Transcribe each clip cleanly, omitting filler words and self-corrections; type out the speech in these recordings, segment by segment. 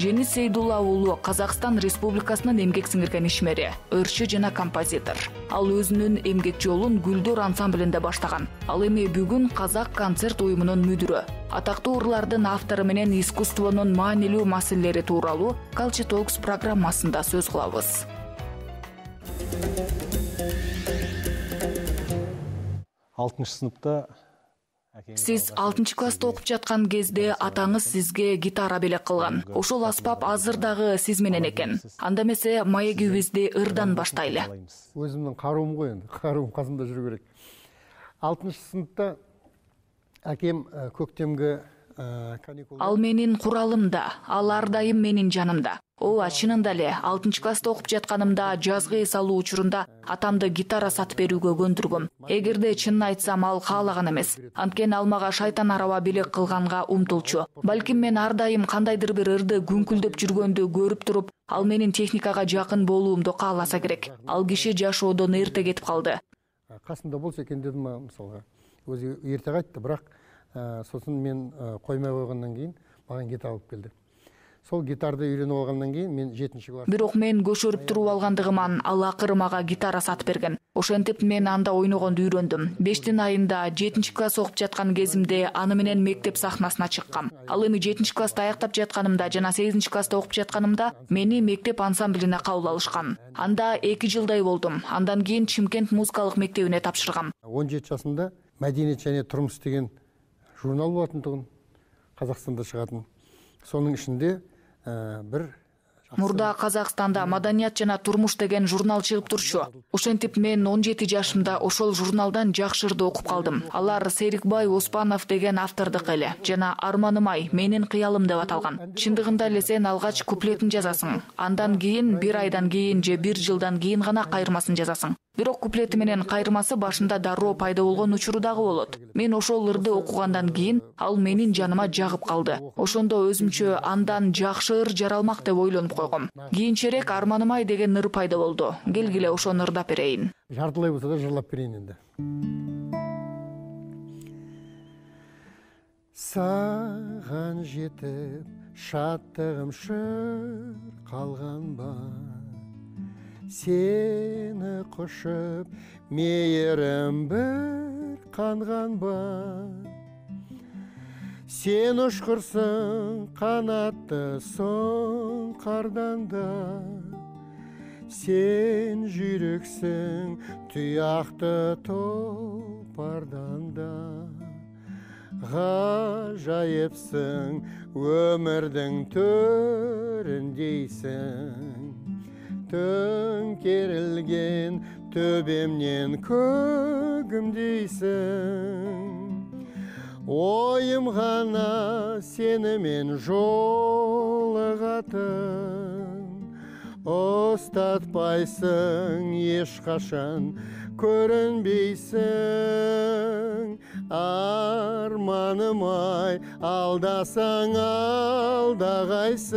Жеңис Сейдулла уулу Казакстан Республикасынын эмгек сиңирген ишмери, ырчы жана композитор. Ал өзүнүн эмгек жолун Гүлдөр ансамблинде баштаган. Ал эми бүгүн Казак концерт уюмунун мүдүрү. Атактуу ырлардын автору менен искусствонун маанилүү маселелери тууралуу Culture Talks программасында сөз кылабыз. Сиз 6-класста окуп жаткан кезде атаңыз сизге гитара белек кылган. Ошол аспап азыр дагы сиз менен экен. Анда эмесе маегибизди ырдан баштайлы. Өзүмдүн каруум го энди, каруум казымда жүрө берет. 6-сыныпта акем көктемге каникул. Ал менин куралымда, ал ар дайым менин жанымда. Ооба, чынында эле 6-класста окуп жатканымда жазгы эс алуу учурунда атамды гитара сатып берүүгө көндүргөм. Эгерде чынын айтсам, ал каалаган эмес. Анткени ал мага шайтан араба белек кылганга умтулчу. Балким мен ар дайым кандайдыр бир ырды күңкүлдөп жүргөндү көрүп туруп, ал менин техникага жакын болуумду кааласа керек. Ал киши жашоодон эрте кетип калды. Касымда болсо экен дедим, мисалга. Өзү эрте кайтты, бирок сосын мен коймой койгондон кийин мага гитара алып келди. Сол гитарды үйрөнүп алгандан кийин мен 7-класс. Бирок мен көшөрүп туруп алгандыгыман ал акыры мага гитара сатып берген. Ошентип мен анда ойногонду үйрөндүм. 5 айында 7-класс окуп жаткан кезимде аны менен мектеп сахнасына чыккам. Ал эми 7-класста аяктап жатканымда жана 8-класста окуп жатканымда мени мектеп ансамблине кабыл алышкан. Анда 2 жылдай болдум. Андан кийин Чымкент музыкалык мектебине тапшыргам. 17 жашымда Мәдениет және турмуш деген журнал болатындыгын, Казакстанда чыгатын. Сонун ичинде бир Мурда Казакстанда Маданият жана турмуш деген журнал чыгып турчу. Ошентип мен 17 жашымда ошол журналдан жакшы ырды окуп калдым. Алар Серикбай Оспанов деген автордук эле жана Арманым ай, менин кыялым деп аталган. Чындыгында эле сен алгач куплетин жазасың. Андан кийин 1 айдан кийин же 1 жылдан кийин гана кайрмасын жазасың. Бирок куплети менен кайрмасы башында дароо пайда болгон учуру дагы болот. Мен ошол ырды окугандан кийин ал менин жаныма жагып калды. Ошондо өзүмчө андан жакшы ыр жаралмак деп ойлонуп койгом. Кийинчерээк Арманым ай деген ыр пайда болду. Келгиле ошону ырдап берейин. Жартылай болсо да жырлап берейин энди. Саган жетип шаттыгым шыр калганба, сени кушуп мейирим бир канганба. Сен ушкурсуң канатты соң кардан да, сен жүрөксүң туякты топардан да. Гажайыпсың өмүрдүн төрүндейсиң, төңкерилген төбемнен көгүмдейсиң. Ойым гана сени мен жолугатын, устатпайсың эч качан көрүнбейсиң. Арманым ай, алдасаң алдагайсың.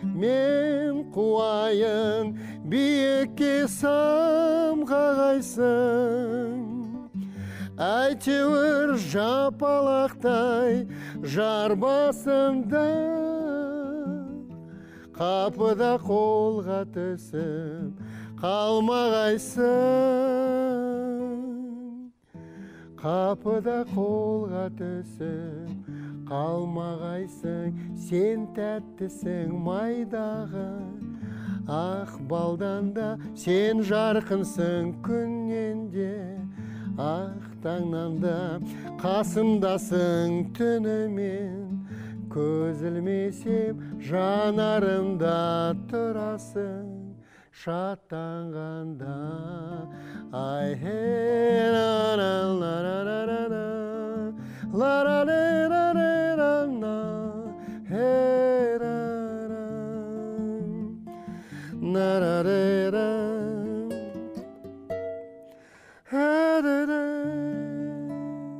Мен куайын биекке самгагайсың. Әйтеуір жапалақтай жар басымда, қапыда қолға түсіп қалмағайсың. Қапыда қолға түсіп қалмағайсың. Сен тәттісің майдағы ақ балдан да, сен жарқынсың күннен де. Ақ таңнан да қасымдасың түнімен, көз ілмесем жанарымда тұрасың шаттанғанда. Ай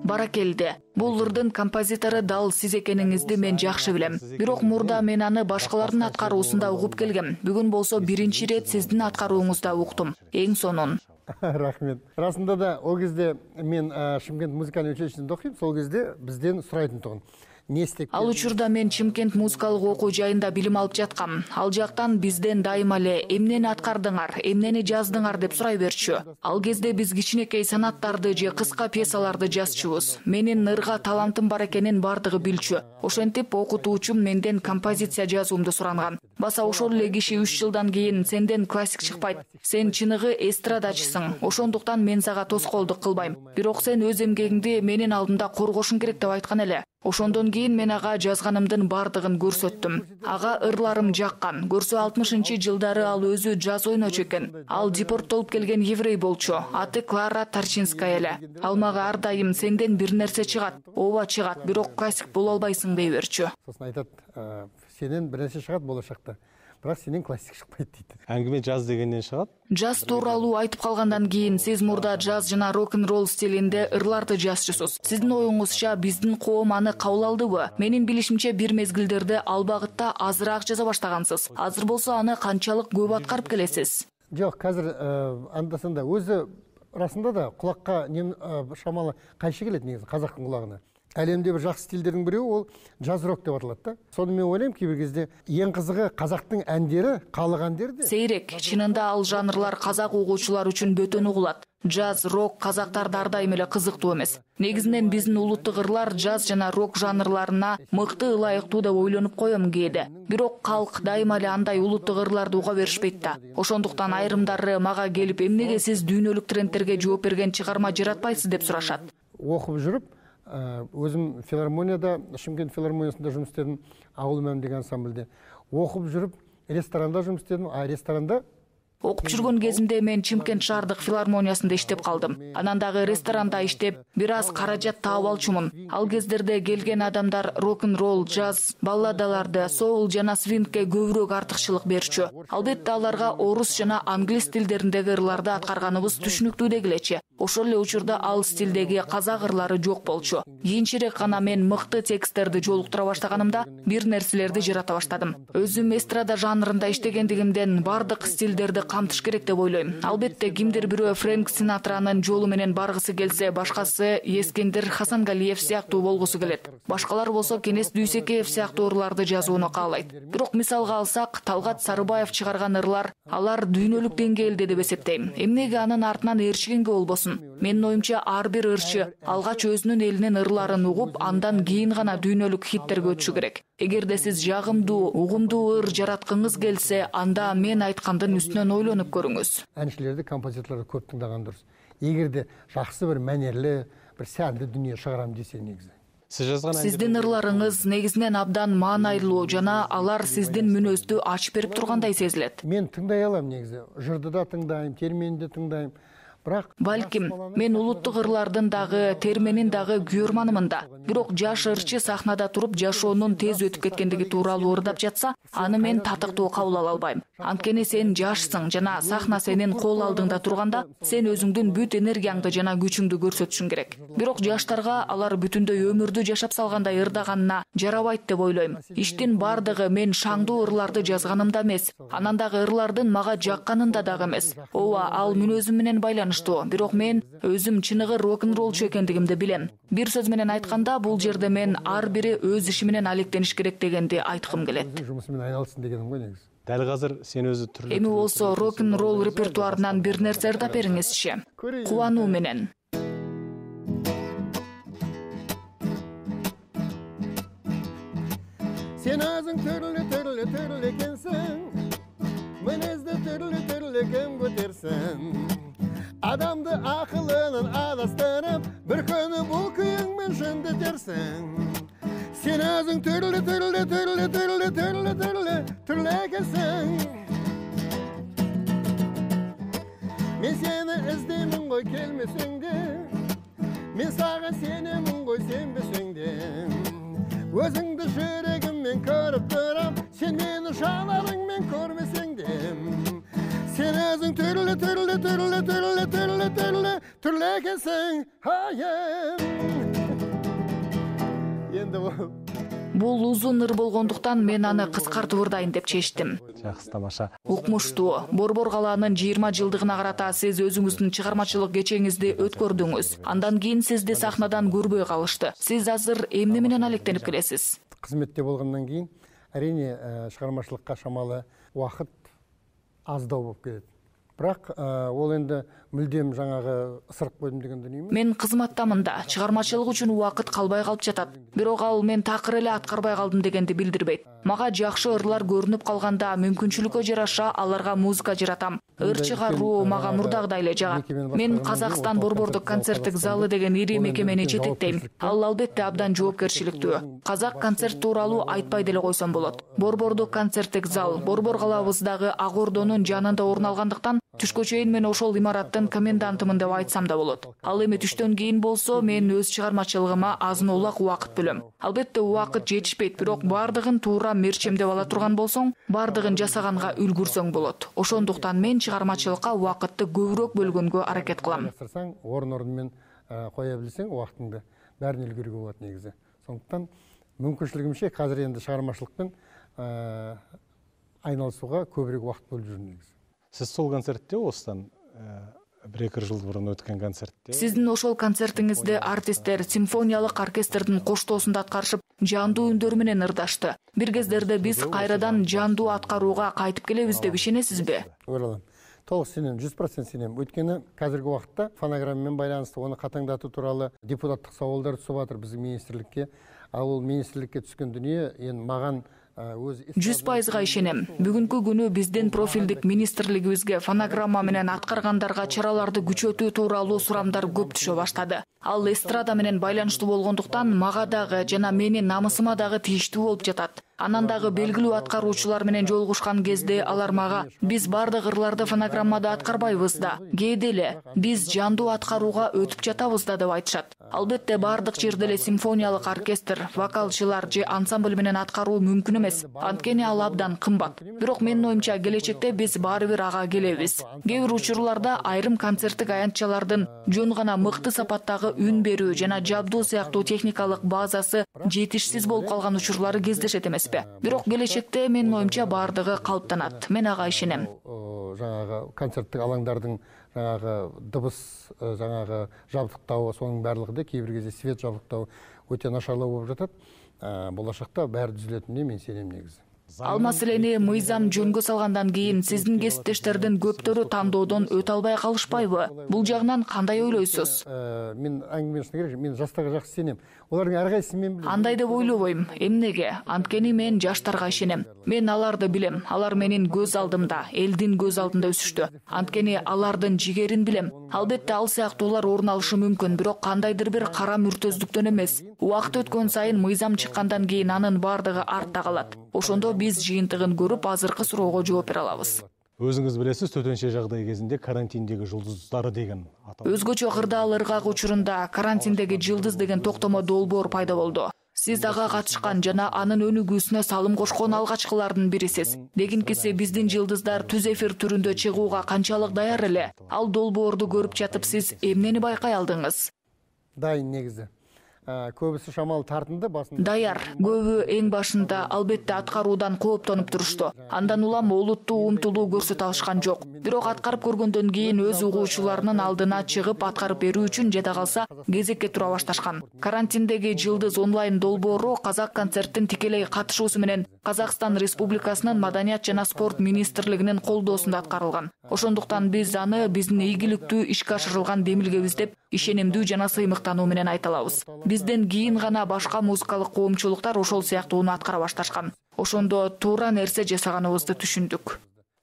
Баракелди. Бул ырдын композитору дал сиз экениңизди мен жакшы билем. Бирок мурда мен аны башкалардын аткаруусунда угуп келгем. Бүгүн болсо биринчи ирет сиздин аткарууңузда уктум. Эң сонун. Рахмет. Расында да ол кезде мен Шымкент музыкалдык училищесинде окуйм. Сол кезде бизден сурайтын тугун. Ал учурда мен Чымкент музыкалык окуу жайында билим алып жаткам. Ал жактан бизден дайыма эле эмнени аткардыңар, эмнени жаздыңар деп сурай берчү. Ал кезде биз кичинекей санаттарды же кыска пьесаларды жазчубуз. Менин ырга талантым бар экенин бардыгы билчү. Ошентип окутуучум менден композиция жазуумду суранган. Баса ошол эле киши 3 жылдан кийин сенден классик чыкпайт. Сен чыныгы эстрадачысың. Ошондуктан мен сага тоскоолдук кылбайм. Бирок сен өз эмгегиңди менин алдымда коргошуң керек деп айткан эле. Ошондон кийин мен ага жазганымдын бардыгын көрсөттүм. Ага ырларым жаккан. Көрсө 60-жылдары ал өзү джаз ойночу экен. Ал депорттолуп келген еврей болчу. Аты Клара Тарчинская эле. Ал мага ар дайым сенден бир нерсе чыгат. Ооба чыгат, бирок классик боло албайсың дей берчү. Сосын айтат, сенен бир нерсе чыгат болошакта. Бирок сенен классик чыкпайт дейт. Аңгиме джаз дегенден чыгат. Джаз тууралуу айтып калгандан кийин сиз мурда джаз жана рок-н-ролл стилинде ырларды жазчусуз. Сиздин оюңузча биздин коом аны кабыл алдыбы? Менин билишимче бир мезгилдерде ал багытта азыраак жаза баштагансыз. Азыр болсо аны канчалык көп аткарып келесиз? Жок, азыр анда-санда өзү расында да кулакка шамалы кайшы келет негизи казактын кулагына. Әлемде бір жақсы стильдердің біреуі ол джаз рок деп аталады да. Соны мен ойлаймын кейбір кезде ең қызығы қазақтың әндері, халық әндері де. Сейрек, чынында ал жанрлар қазақ угуучулар үчүн бөтөн угулат. Джаз, рок казактарда ар дайым эле кызыктуу эмес. Негизинен биздин улуттук ырлар джаз жана рок жанрларына мыкты ылайыктуу деп ойлонуп коем кээде. Бирок калк дайыма эле андай улуттук ырларды уга беришпейт да. Ошондуктан айрымдары мага келип, эмнеге сиз дүйнөлүк трендтерге жооп берген чыгарма жаратпайсыз деп сурашат. Окуп жүрүп, өзім филармонияда, Шымкент филармониясында жұмыс істедім, ауыл мәм деген ансамбльде. Оқып жүріп, ресторанда жұмыс істедім, ресторанда окуп жүргөн кезимде мен Чымкент шаардык филармониясында иштеп калдым. Анан дагы ресторанда иштеп, бир аз каражат таап алчумун. Ал кездерде келген адамдар рок-н-ролл, джаз, балладаларды, соул жана свингке көбүрөөк артыкчылык берчү. Албетте аларга орус жана англис тилдериндеги ырларды аткарганыбыз түшүнүктүү дегилечи. Ошол эле учурда ал стилдеги казак ырлары жок болчу. Кийинчерээк гана мен мыкты тексттерди жолуктура баштаганымда бир нерселерди жарата баштадым. Өзүм эстрада жанрында иштегендигимден бардык стилдерди камтыш керек деп ойлойм. Албетте кимдир бирөө Фрэнк Синатранын жолу менен баргысы келсе, башкасы Эскендер Хасангалиев сыяктуу болгусу келет. Башкалар болсо Кенес Дүйсекеев сыяктуу ырларды жазууну каалайт. Бирок мисалга алсак, Талгат Сарыбаев чыгарган ырлар, алар дүйнөлүк деңгээлде деп эсептейм. Эмнеге анын артынан ээрчигенге болбосун? Менин оюмча ар бир ырчы алгач өзүнүн элинин ырларын угуп, андан кийин гана дүйнөлүк хиттерге өтүшү керек. Эгерде сиз жагымдуу, угумдуу ыр жараткыңыз келсе, анда мен айткандын үстүнөн ойлонуп көрүңүз. Әншілерді, композиторларды көп тыңдаған дұрыс. Егерде жақсы бір мәнерлі, бір сәнді дүние шығарам десе негізі. Сиздин ырларыңыз негизинен абдан маанайлуу жана алар сиздин мүнөздү ачып берип тургандай сезилет. Мен тыңдай алам негизи. Жырды да тыңдайм, терменди тыңдайм. Балким, мен улуттук ырлардын дагы, терменин дагы күйөрманымын да. Бирок жаш ырчы сахнада туруп жашоонун тез өтүп кеткендиги тууралуу ырдап жатса, аны мен татыктуу кабыл ала албайм. Анткени сен жашсың жана сахна сенин кол алдыңда турганда, сен өзүңдүн бүт энергияңды жана күчүңдү көрсөтүшүң керек. Бирок жаштарга алар бүтүндөй өмүрдү жашап салгандай ырдаганына жарабайт деп ойлойм. Иштин бардыгы мен шаңдуу ырларды жазганымда эмес, анан дагы ырлардын мага жакканында дагы эмес. Ооба, ал мүнөзүм менен байланыштуу. Бирок мен өзүм чыныгы рок-н-роллчу экендигимди билем. Бир сөз менен айтканда, бул жерде мен ар бири өз иши менен алектениш керек дегенди айткым келет. Жумушу менен айналсын дегеним го негизи. Дәл азыр сен өзү түрлүү. Эми болсо рок-н-ролл репертуарынан бир нерсе ырдап бериңизчи. Кубануу менен. Сен өзүң түрлүү экенсиң. Мүнөздү түрлүү кем көтерсең. Адамды акылынан адастырып, бір күні бұл күйіңмен жөндөтерсің. Сен өзің түрлі екенсің. Мен сені іздеймін ғой келмесең де, мен саған сенемін ғой сенбесең де. Өзіңді жүрегіммен көріп тұрам, сен мені жанарыңмен көрмесең де. Сен өзің түрлі екенсің, айым. Енді Бул узун ыр болгондуктан мен аны кыскартып ырдайын деп чечтим. Жакшы, тамаша. Укмуштуу. Борбор калаанын 20 жылдыгына карата сиз өзүңүздүн чыгармачылык кечеңизди өткөрдүңүз. Андан кийин сизди сахнадан көрбөй калышты. Сиз азыр эмне менен алектенип келесиз? Кызметте болгондон кийин әрине чыгармачылыкка шамалы убакыт аздау болуп кетет. Бирок ол энди мүлдем жаңагы ысырып койдум деген дүнү эмес. Мен кызматтамын да, чыгармачылык үчүн убакыт калбай калып жатат. Бирок ал мен такыр эле аткарбай калдым дегенди билдирбейт. Мага жакшы ырлар көрүнүп калганда мүмкүнчүлүккө жараша аларга музыка жаратам. Ыр чыгаруу мага мурдагыдай эле жагат. Мен Казакстан борбордук концерттик залы деген ири мекемени жетектейм. Ал албетте абдан жоопкерчиликтүү. Казак концерт тууралуу айтпай деле койсом болот. Борбордук концерттик зал борбор калабыздагы Ак Ордонун жанында орун алгандыктан түшкө чейин мен ошол имараттын комендантымын деп айтсам да болот. Ал эми түштөн кийин болсо мен өз чыгармачылыгыма азын-улак убакыт бөлөм. Албетте убакыт жетишпейт, бирок бардыгын туура мерчемдеп ала турган болсоң, бардыгын жасаганга үлгүрсөң болот. Ошондуктан мен чыгармачылыкка убакытты көбүрөөк бөлгөнгө аракет кылам. Орун менен кое билсең, убактыңды бәрин үлгүргө болот негизи. Сондуктан мүмкүнчүлүгүмчө азыр энди чыгармачылыкпен айналышууга көбүрөөк убакыт бөлүп жүрүм негизи. Сиз сол концертте осудан 1-2 жыл бурун өткөн концертте. Сиздин ошол концертиңизде артисттер симфониялык оркестрдин коштоосунда аткарышып, жандуу үндөр менен ырдашты. Бир кездерде биз кайрадан жандуу аткарууга кайтып келебиз деп ишенесизби? Ойлойм. Толук сенем, 100% сенем. Өйткөнү азыркы убакытта фонограмма менен байланыштуу оны катаңдатуу тууралуу депутаттык сабалдар түшүп атыр биздин министрликке. Ал министрликке түшкөн дүнүө эми маган 100% ишенем. Бүгүнкү күнү биздин профилдик министрлигибизге фонограмма менен аткаргандарга чараларды күчөтүү тууралуу сурамдар көп түшө баштады. Ал эстрада менен байланыштуу болгондуктан мага дагы жана менин намысыма дагы тийиштүү болуп жатат. Анан дагы белгилүү аткаруучулар менен жолугушкан кезде алар мага биз бардык ырларды фонограммада аткарбайбыз да, кээде эле биз жандуу аткарууга өтүп жатабыз да деп айтышат. Албетте бардык жерде эле симфониялык оркестр, вокалчылар же ансамбль менен аткаруу мүмкүн эмес. Анткени ал абдан кымбат. Бирок менин оюмча келечекте биз баары бир ага келебиз. Кээ бир учурларда айрым концерттик аянтчалардын жөн гана мыкты сапаттагы үн берүү жана жабдуу сыяктуу техникалык базасы жетишсиз болуп калган учурлары кездешет эмеспи. Бирок келечекте менин оюмча баардыгы калыптанат. Мен ага ишенем. Жаңагы концерттик алаңдардын жаңагы дыбыс жаңагы жабдыктоо сонун баардыгы да кээ бир кезде свет жабдыктоо өтө нашарлоо болуп жатат. Болашакта баары түзүлөтүнүнө мен сенем негизи. Ал маселени мыйзам жөнгө салгандан кийин сиздин кесиптештердин көптөрү тандоодон өтө албай калышпайбы? Бул жагынан кандай ойлойсуз? Мен аңгемелешим керек, мен жаштарга жакшы сенем. Олардын ар кайсысын мен билем. Андай деп ойлобойм. Эмнеге? Анткени мен жаштарга ишенем. Мен аларды билем. Алар менин көз алдымда, элдин көз алдында өсүштү. Анткени алардын жигерин билем. Албетте ал сыяктуулар орун алышы мүмкүн, бирок кандайдыр бир кара мүртөздүктөн эмес. Убакыт өткөн сайын мыйзам чыккандан кийин анын бардыгы артта калат. Ошондо биз жыйынтыгын көрүп азыркы суроого жооп бере алабыз. Өзүңүз билесиз, төтөнчө жагдай кезинде карантиндеги жылдыздары деген аталат. Өзгөчө кырдаал ыргак учурунда карантиндеги жылдыз деген токтомо долбоор пайда болду. Сиз ага катышкан жана анын өнүгүүсүнө салым кошкон алгачкылардын бирисиз. Дегенкиси биздин жылдыздар түз эфир түрүндө чыгууга канчалык даяр эле? Ал долбоорду көрүп жатып сиз эмнени байкай алдыңыз? Дайын негизи. Көбүсү шамал тартынды басында. Даяр. Көбү эң башында албетте аткаруудан кооптонуп турушту. Андан улам олуттуу умтулуу көрсөтө алышкан жок. Бирок аткарып көргөндөн кийин өз угуучуларынын алдына чыгып аткарып берүү үчүн жада калса кезекке тура башташкан. Карантиндеги жылдыз онлайн долбоору Казак концерттин тикелей катышуусу менен Казакстан Республикасынын Маданият жана спорт министрлигинин колдоосунда аткарылган. Ошондуктан биз аны биздин ийгиликтүү ишке ашырылган демилгебиз деп ишенимдүү жана сыймыктануу менен айта алабыз. Бизден кийин гана башка музыкалык коомчулуктар ошол сыяктууну аткара башташкан. Ошондо туура нерсе жасаганыбызды түшүндүк.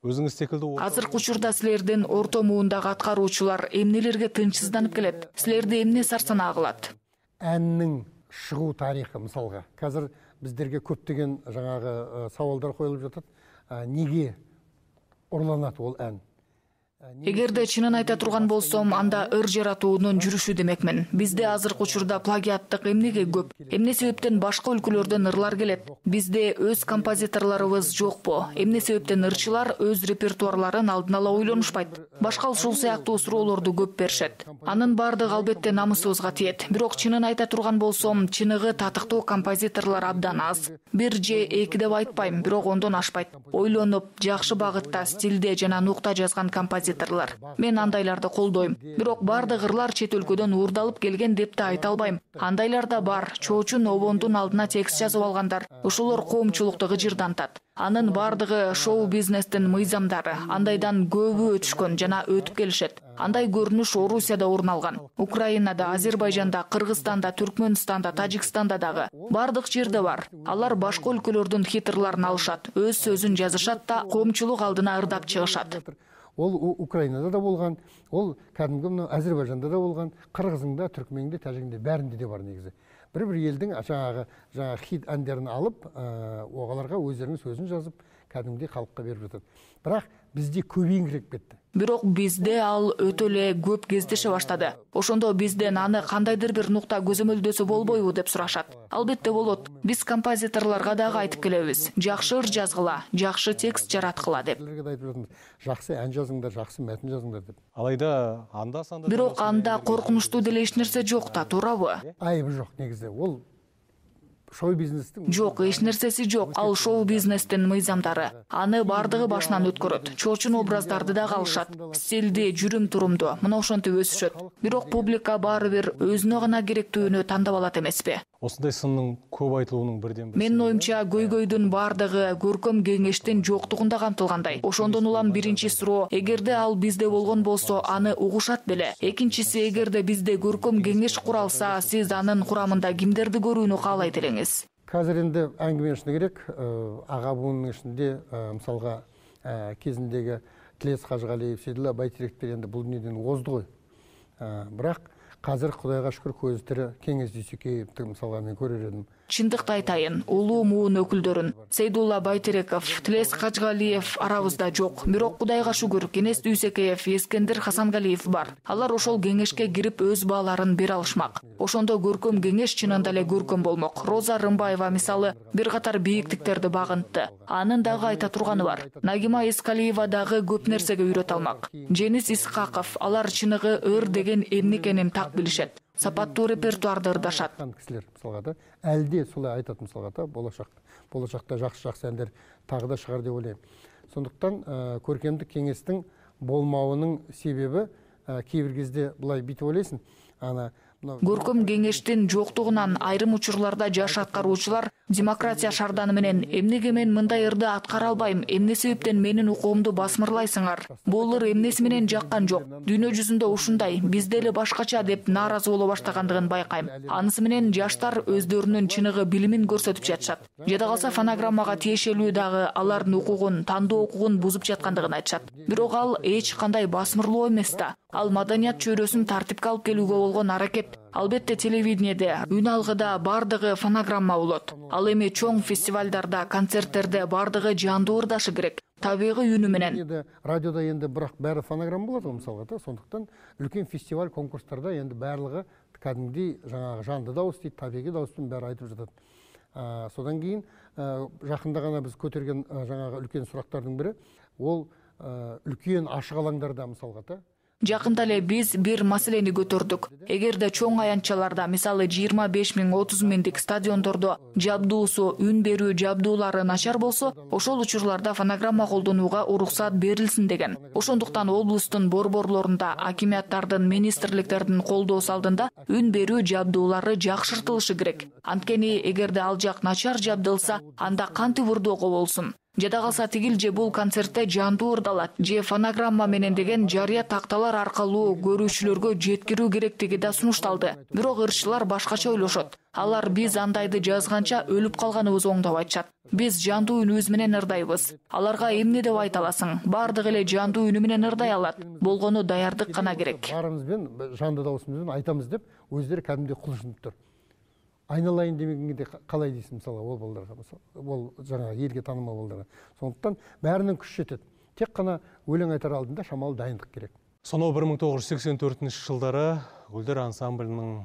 Өзүңүз секилдүү Азыркы учурда силердин орто муундагы аткаруучулар эмнелерге тынчсызданып келет? Силерди эмне сарсанаа кылат? Әннин чыгуу тарихы мисалга. Азыр биздерге көптөгөн жаңагы сабалдар коюлуп жатат. Неге урланат ол ән? Эгерде чынын айта турган болсом, анда ыр жаратуунун жүрүшү демекмин. Бизде азыркы учурда плагиаттык эмнеге көп? Эмне себептен башка өлкөлөрдөн ырлар келет? Бизде өз композиторлорубуз жокпу? Эмне себептен ырчылар өз репертуарларын алдын ала ойлонушпайт? Башка ушул сыяктуу суроолорду көп беришет. Анын бардыгы албетте намысыбызга тиет. Бирок чынын айта турган болсом, чыныгы татыктуу композиторлор абдан аз. Бир же эки деп айтпайм, бирок ондон ашпайт. Ойлонуп, жакшы багытта, стилде жана нукта жазган композиторлор. Мен андайларды колдойм. Бирок бардык ырлар чет өлкөдөн уурдалып келген деп да айта албайм. Андайлар да бар. Чоочун обондун алдына текст жазып алгандар. Ошолор коомчулукту гыжырдантат. Анын бардыгы шоу-бизнестин мыйзамдары. Андайдан көбү өтүшкөн жана өтүп келишет. Андай көрүнүш Орусияда орун алган. Украинада, Азербайжанда, Кыргызстанда, Түркмөнстанда, Тажикстанда дагы. Бардык жерде бар. Алар башка өлкөлөрдүн хиттерларын алышат, өз сөзүн жазышат да коомчулук алдына ырдап чыгышат. Ол Украинада да болгон, ол кәдимги Азербайжанда да болгон, Кыргызыңда, Түркмеңде, Тажигинде бәринде де бар негизи. Бір елдің жаңағы хит әндерін алып, оғаларға өздерінің сөзін жазып, кәдімгідей халыққа беріп жатады. Бірақ бізде көбейіңкіреп кетті. Бирок бизде ал өтө эле көп кездеше баштады. Ошондо бизден аны кандайдыр бир нукта көзөмөлдөсө болбойбу деп сурашат. Албетте болот. Биз композиторлорго дагы айтып келебиз. Жакшы ыр жазгыла, жакшы текст жараткыла деп. Жакшы ән жазыңдар, жакшы мәтін жазыңдар деп. Алайда анда-санда Бирок анда коркунучтуу деле эч нерсе жок да, туурабы? Айыбы жок негизи. Ол шоу-бизнестин Жок, эч нерсеси жок. Ал шоу-бизнестин мыйзамдары. Аны бардыгы башынан өткөрөт. Чоочун образдарды да калышат. Стилди, жүрүм-турумду, мына ошентип өсүшөт. Бирок публика баары бир өзүнө гана керектүүнү тандап алат эмеспи? осындай сынның көп айтылуунун бирден Менин оюмча көйгөйдүн бардыгы көркөм кеңештин жоктугунда камтылгандай. Ошондон улам биринчи суроо, эгерде ал бизде болгон болсо, аны угушат беле. Экинчиси, эгерде бизде көркөм кеңеш куралса, сиз анын курамында кимдерди көрүүнү каалайт элеңиз? Қазір енді әңгіме ішіне керек, аға буынның ішінде, мысалға кезіндегі Тілес Қажығалиев, Сейдулла Байтеректер енді бұл дүниеден озды ғой. Бірақ қазір Құдайға шүкір көзі тірі Кеңес Дүйсекеевті мысалға мен көрер едім. Чындыкты айтайын, улуу муун өкүлдөрүн Сейдулла Байтереков, Тілес Кажгалиев арабызда жок. Бирок Кудайга шүгүр Кеңес Дүйсекеев, Ескендир Хасангалиев бар. Алар ошол кеңешке кирип өз бааларын бере алышмак. Ошондо көркөм кеңеш чынында эле көркөм болмок. Роза Рымбаева мисалы бир катар бийиктиктерди багынтты. Анын дагы айта турганы бар. Нагима Искалиева дагы көп нерсеге үйрөтө алмак. Женис Исхаков, алар чыныгы ыр деген эмне экенин так билишет. Сапаттуу репертуарды ырдашат. Кісілер мысалға да, әлде солай айтат мысалға да, болашақта жақсы әндер тағы да шығар деп ойлаймын. Сондықтан көркемдік кеңестің болмауының себебі кейбір кезде былай бүйтіп ойлайсың, Көркөм кеңештин жоктугунан айрым учурларда жаш аткаруучулар демократия шарданы менен эмнеге мен мындай ырды аткара албайм, эмне себептен менин укуумду басмырлайсыңар? Бул ыр эмнеси менен жаккан жок. Дүйнө жүзүндө ушундай, бизде эле башкача деп нааразы боло баштагандыгын байкайм. Анысы менен жаштар өздөрүнүн чыныгы билимин көрсөтүп жатышат. Жада калса фонограммага тиешелүү дагы алардын укугун, тандоо укугун бузуп жаткандыгын айтышат. Бирок ал эч кандай басмырлоо эмес да. Ал маданият чөйрөсүн тартипке алып келүүгө болгон аракет. Албетте телевидениеде, үн алгыда бардыгы фонограмма болот. Ал эми чоң фестивалдарда, концерттерде бардыгы жандуу ырдашы керек. Табигый үнү менен. Радиода енді бірақ бәрі фонограмма болады ғой мысалға да. Сондықтан үлкен фестиваль конкурстарда енді барлығы кәдімгідей жаңағы жанды дауыс дейді, табиғи дауыспен бәрі айтып жатады. Содан кейін жақында ғана біз көтерген жаңағы үлкен сұрақтардың бірі, ол үлкен ашық алаңдарда мысалға да. Жакында эле биз бир маселени көтөрдүк. Эгерде чоң аянтчаларда, мисалы 25 миң, 30 миңдик стадиондордо жабдуусу, үн берүү жабдуулары начар болсо, ошол учурларда фонограмма колдонууга уруксат берилсин деген. Ошондуктан облустун борборлорунда, акимияттардын, министрликтердин колдоосу алдында үн берүү жабдуулары жакшыртылышы керек. Анткени эгерде ал жак начар жабдылса, анда кантип ырдоого болсун? Жада калса тигил же бул концертте жандуу ырдалат, же фонограмма менен деген жарыя такталар аркылуу көрүүчүлөргө жеткирүү керектиги да сунушталды. Бирок ырчылар башкача ойлошот. Алар биз андайды жазганча өлүп калганыбыз оң деп айтышат. Биз жандуу үнүбүз менен ырдайбыз. Аларга эмне деп айта аласың? Бардыгы эле жандуу үнү менен ырдай алат. Болгону даярдык гана керек. Барымызбен, жанды дауысымызбен айтамыз деп, өздері кәдімгідей құлшынып тұр. Айналайын демегенде қалай дейсің мысалы ол балдарға, ол жаңағы елге танымал балдарға. Сондықтан бәрінің күш жетеді. Тек гана өлең айтар алдында шамал дайындык керек. Сонау 1984-жылдары Гүлдөр ансамблінің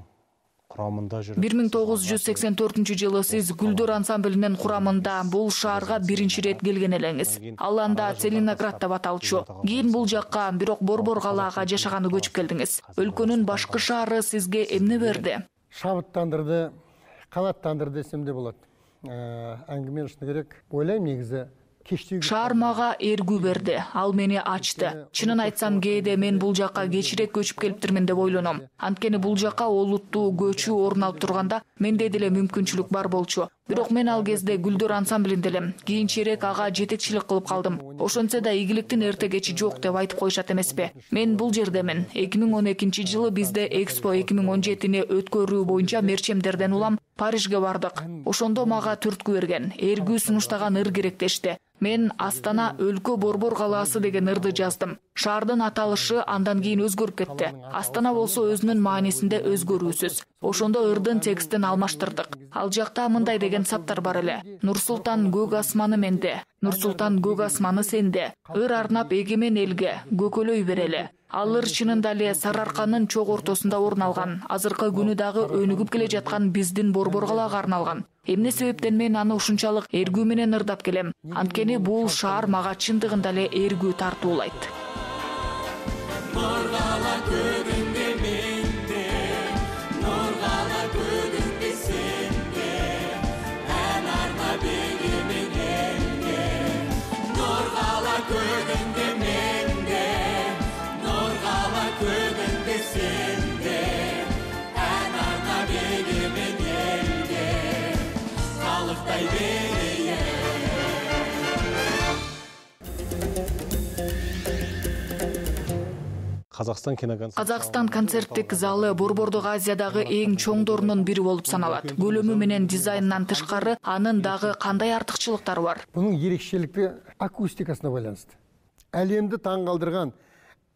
курамында жүрүп. 1984-жылы сиз Гүлдөр ансамблинин курамында бул шаарга биринчи ирет келген элеңиз. Ал анда Целиноград деп аталчу. Кийин бул жакка, бирок Борбор калаага жашаганы көчүп келдиңиз. Өлкөнүн башкы шаары сизге эмне берди? Шабыттандырды, канаттандырды десем де болот. Әңгіме шыны керек. Ойлайм негизи Шаар мага эргүү берди, ал мени ачты. Чынын айтсам, кээде мен бул жакка кечирээк көчүп келиптирмин деп ойлоном. Анткени бул жакка олуттуу көчүү орун алып турганда менде деле мүмкүнчүлүк бар болчу. Бирок мен ал кезде Гүлдөр ансамблинде элем. Кийинчерээк ага жетекчилик кылып калдым. Ошентсе да игиликтин эрте кечи жок деп айтып коюшат эмеспи? Мен бул жердемин. 2012-жылы бизде Экспо 2017-ни өткөрүү боюнча мерчемдерден улам Парижге бардык. Ошондо мага түрткү берген, эргүү сунуштаган ыр керек дешти. Мен Астана өлкө Борбор калаасы деген ырды жаздым. Шаардын аталышы андан кийин өзгөрүп кетти. Астана болсо өзүнүн маанисинде өзгөрүүсүз. Ошондо ырдын текстин алмаштырдык. Ал жакта мындай деген саптар бар эле. Нур-Султан көк асманы менде, Нур-Султан көк асманы сенде. Ыр арнап эгемен элге, көкөлөй берели. Ал ыр чынында эле Сарыарканын чок ортосунда орун алган. Азыркы күнү дагы өнүгүп келе жаткан биздин Борбор калаага арналган. Эмне себептен мен аны ушунчалык эргүү менен ырдап келем? Анткени бул шаар мага чындыгында эле эргүү тартуулайт. Казакстан концерттик залы Борбордук Азиядагы эң чоңдорунун бири болуп саналат. Көлөмү менен дизайнынан тышкары анын дагы кандай артыкчылыктары бар? Бунун ерекшелиги акустикасына байланыштуу. Әлемди таң калтырган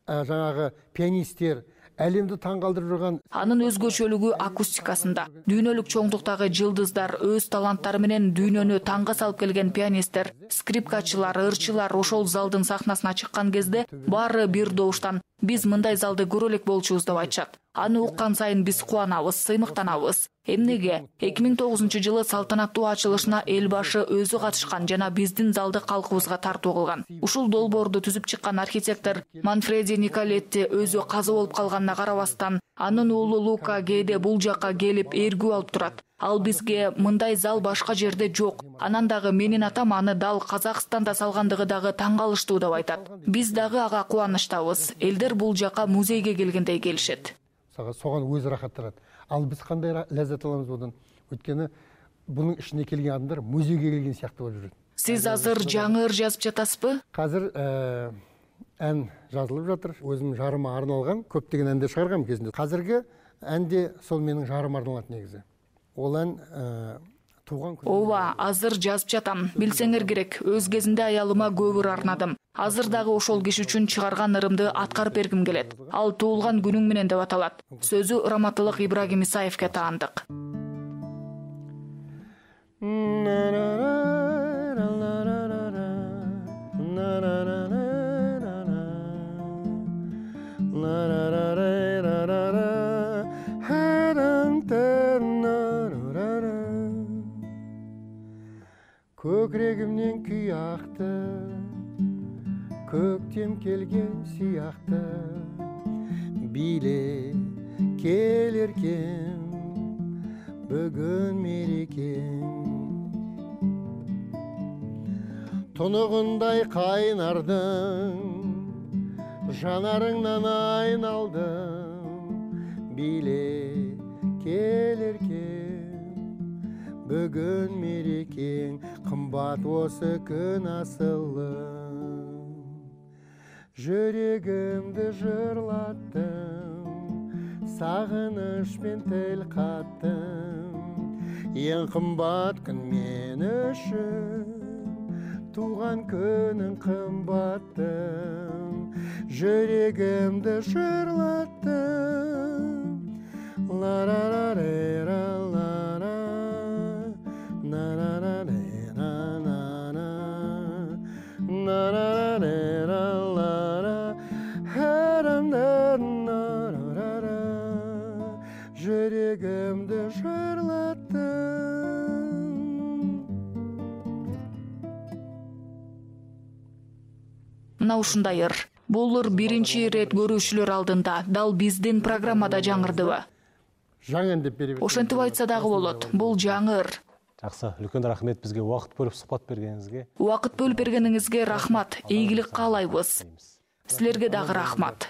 жаңагы пианисттер, әлемди таң калтырып жүргөн. Анын өзгөчөлүгү акустикасында. Дүйнөлүк чоңдуктагы жылдыздар, өз таланттары менен дүйнөнү таңга салып келген пианисттер, скрипкачылар, ырчылар ошол залдын сахнасына чыккан кезде баары бир добуштан биз мындай залды көрө элек болчубуз деп айтышат. Аны уккан сайын биз кубанабыз, сыймыктанабыз. Эмнеге? 2009-жылы салтанаттуу ачылышына эл башы өзү катышкан жана биздин залды калкыбызга тартуу кылган. Ушул долбоорду түзүп чыккан архитектор Манфреди Николетти өзү каза болуп калганына карабастан, анын уулу Лука кээде бул жакка келип эргүү алып турат. Ал бизге мындай зал башка жерде жок. Анан дагы менин атам аны дал Казакстанда салгандыгы дагы таң калыштуу деп айтат. Биз дагы ага кубанычтабыз. Элдер бул жака музейге келгендей келишет. Согон өзү рахаттанат. Ал биз кандай леззат аламыз будан? Өткөнү бунун ишине келген адамдар музейге келген сыяктуу болуп жүрөт. Сиз азыр жаңы ыр жазып жатасызбы? Азыр ән жазылып жатыр. Өзүм жарыма арналган көптөгөн әндер чыгаргам кезинде. Азыркы әнде сол менин жарыма арналат негизи. Ол ән туган күнү. Ооба, азыр жазып жатам. Билсеңер керек, өз кезинде аялыма көп ыр арнадым. Азыр дагы ошол киши үчүн чыгарган ырымды аткарып бергим келет. Ал туулган күнүң менен деп аталат. Сөзү Раматылык Ибрагим Исаевке таандык. Көкрегимнен күй акты, көктем келген сыяқты, биле келеркен бүгүн мерекең. Тұнығындай қайнардың, жанарыңнан айналдым, биле келеркен бүгүн мерекең. Қымбат осы күн асылым, жүрегімді жырлаттым, сағынышпен тіл қаттым. Ең қымбат күн мен үшін, туған күнің қымбаттым, жүрегімді жырлаттым. Ла-ра-ра-ре-ра-ла-ра, на-ра-ра-ре-ра-на-на, на-ра-ра-ре-ра. жүрегимди шырлаттың. Мына ушундай ыр. Бул ыр биринчи ирет көрүүчүлөр алдында дал биздин программада жаңырдыбы? Жаңы деп берип. Ошентип айтса дагы болот. Бул жаңы ыр. Жакшы, үлкен рахмет бизге убакыт бөлүп сухбат бергениңизге. Убакыт бөлүп бергениңизге рахмат. Ийгилик каалайбыз. Силерге дагы рахмат.